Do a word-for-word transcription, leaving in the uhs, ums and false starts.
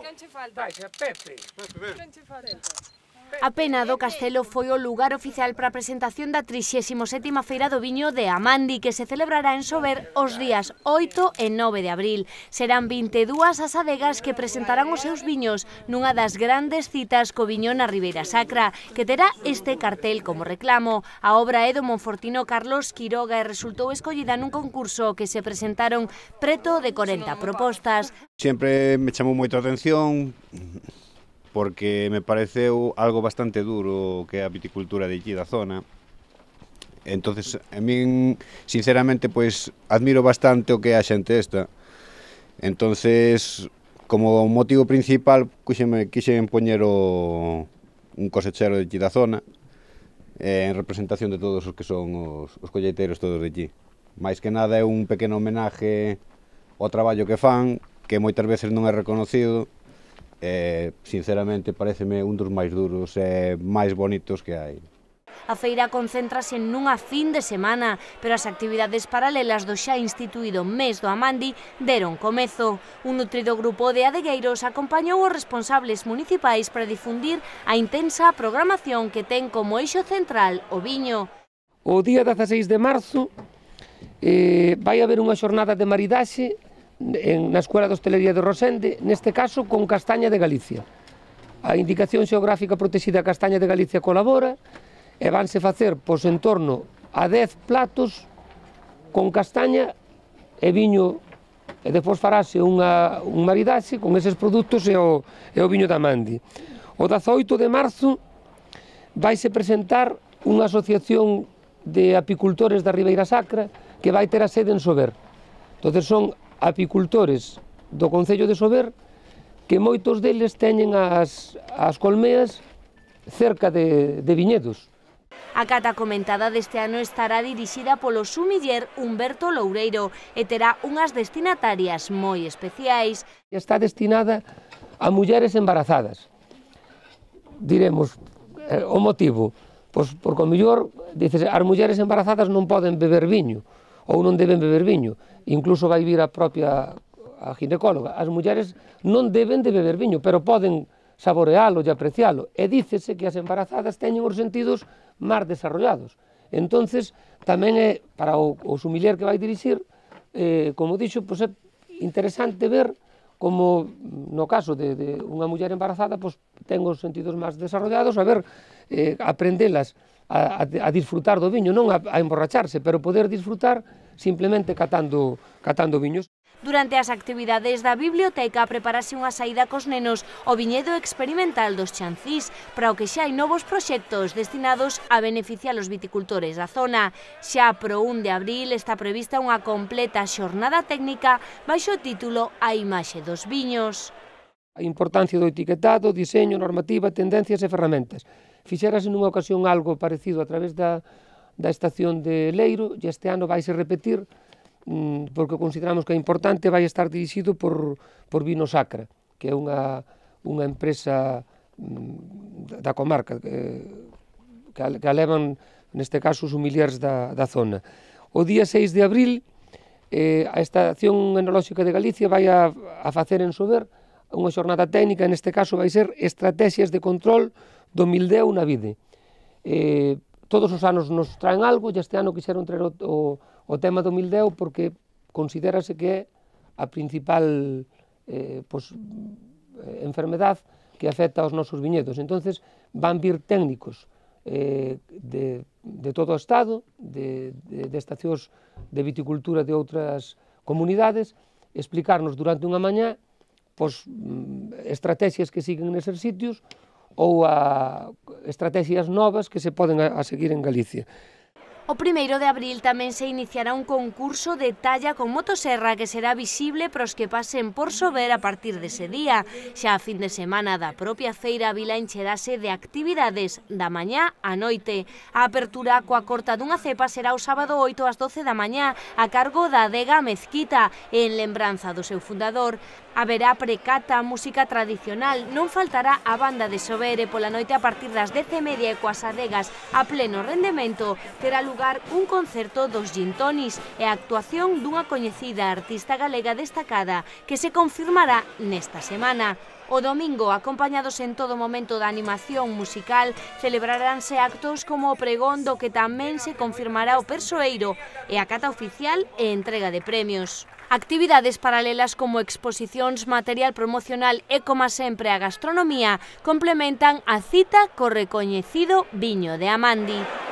Quen che falta? Pepe. Quen che falta? A Pena do Castelo foi o lugar oficial para a presentación da trixésima sétima Feira do Viño de Amandi, que se celebrará en Sober os días oito e nove de abril. Serán vinte e dúas as adegas que presentarán os seus viños nunha das grandes citas co viño na Ribeira Sacra, que terá este cartel como reclamo. A obra é do monfortino Carlos Quiroga e resultou escollida nun concurso que se presentaron preto de corenta propostas. Sempre me chamou moito a atención porque me pareceu algo bastante duro que é a viticultura de aquí da zona. Entonces, a min, sinceramente, pois, admiro bastante o que é a xente esta. Entonces, como motivo principal, quixeme, quixen poñer o, un cosechero de aquí da zona, eh, en representación de todos os que son os, os colleiteiros todos de aquí. Mais que nada é un pequeno homenaje ao traballo que fan, que moitas veces non é reconocido. Eh, sinceramente, pareceme un dos máis duros e máis bonitos que hai. A feira concéntrase nunha fin de semana, pero as actividades paralelas do xa instituído Mes do Amandi deron comezo. Un nutrido grupo de adegueiros acompañou os responsables municipais para difundir a intensa programación que ten como eixo central o viño. O día dezaseis de marzo eh, vai haber unha xornada de maridaxe na Escuela de Hostelería de Rosende, neste caso con Castaña de Galicia. A Indicación Xeográfica Protexida Castaña de Galicia colabora e vanse facer pois en torno a dez platos con castaña e viño, e depois farase unha, un maridaxe con eses produtos e o, e o viño da Amandi. O dezaoito de marzo vaise presentar unha asociación de apicultores da Ribeira Sacra que vai ter a sede en Sober. Entón son apicultores do Concello de Sober que moitos deles teñen as, as colmeas cerca de, de viñedos. A cata comentada deste ano estará dirixida polo sumiller Humberto Loureiro e terá unhas destinatarias moi especiais. Está destinada a mulleres embarazadas. Diremos, eh, o motivo, pois porque o mellor, dices, as mulleres embarazadas non poden beber viño, ou non deben beber viño, incluso vai vir a propia a ginecóloga. As mulleres non deben de beber viño, pero poden saborealo e aprecialo, e dícese que as embarazadas teñen os sentidos máis desarrollados. Entonces, tamén é, para o, o sumiller que vai dirixir, eh, como dixo, pois é interesante ver como, no caso de, de unha muller embarazada, pois ten os sentidos máis desarrollados, a ver, eh, aprendelas A, a, a disfrutar do viño, non a, a emborracharse, pero poder disfrutar simplemente catando, catando viños. Durante as actividades da biblioteca preparase unha saída cos nenos ao viñedo experimental dos Chancís, para o que xa hai novos proxectos destinados a beneficiar os viticultores da zona. Xa pro un de abril está prevista unha completa xornada técnica baixo o título A imaxe dos viños. A importancia do etiquetado, diseño, normativa, tendencias e ferramentas. Fixérase nunha ocasión algo parecido a través da, da estación de Leiro e este ano vaise repetir mmm, porque consideramos que é importante, vai estar dirixido por, por Vino Sacra, que é unha, unha empresa mmm, da comarca que, que alevan neste caso os humiliers da, da zona. O día seis de abril eh, a Estación Enolóxica de Galicia vai a, a facer en Sober unha xornada técnica, neste caso vai ser estrategias de control do mildeo na vide. Eh, todos os anos nos traen algo e este ano quixeron traer o, o, o tema do mildeo porque considérase que é a principal eh, pues, enfermedad que afecta aos nosos viñedos. Entonces van vir técnicos eh, de, de todo o Estado, de, de, de estacións de viticultura de outras comunidades, explicarnos durante unha mañá pues, estrategias que siguen neses sitios ou a estrategias novas que se poden a, a seguir en Galicia. O primeiro de abril tamén se iniciará un concurso de talla con motoserra que será visible para os que pasen por Sober a partir dese día. Xa a fin de semana da propia feira a vila encherase de actividades da mañá á noite. A apertura coa corta dunha cepa será o sábado oito ás doce da mañá a cargo da adega Mezquita, en lembranza do seu fundador. Haberá precata, música tradicional, non faltará a banda de Sober e pola noite a partir das dez e media e coas adegas a pleno rendemento terá lugar un concerto dos Gintonis e a actuación dunha coñecida artista galega destacada que se confirmará nesta semana. O domingo, acompañados en todo momento da animación musical, celebraránse actos como o pregón do que tamén se confirmará o persoeiro e a cata oficial e entrega de premios. Actividades paralelas como exposicións, material promocional e, como sempre, a gastronomía complementan a cita co recoñecido viño de Amandi.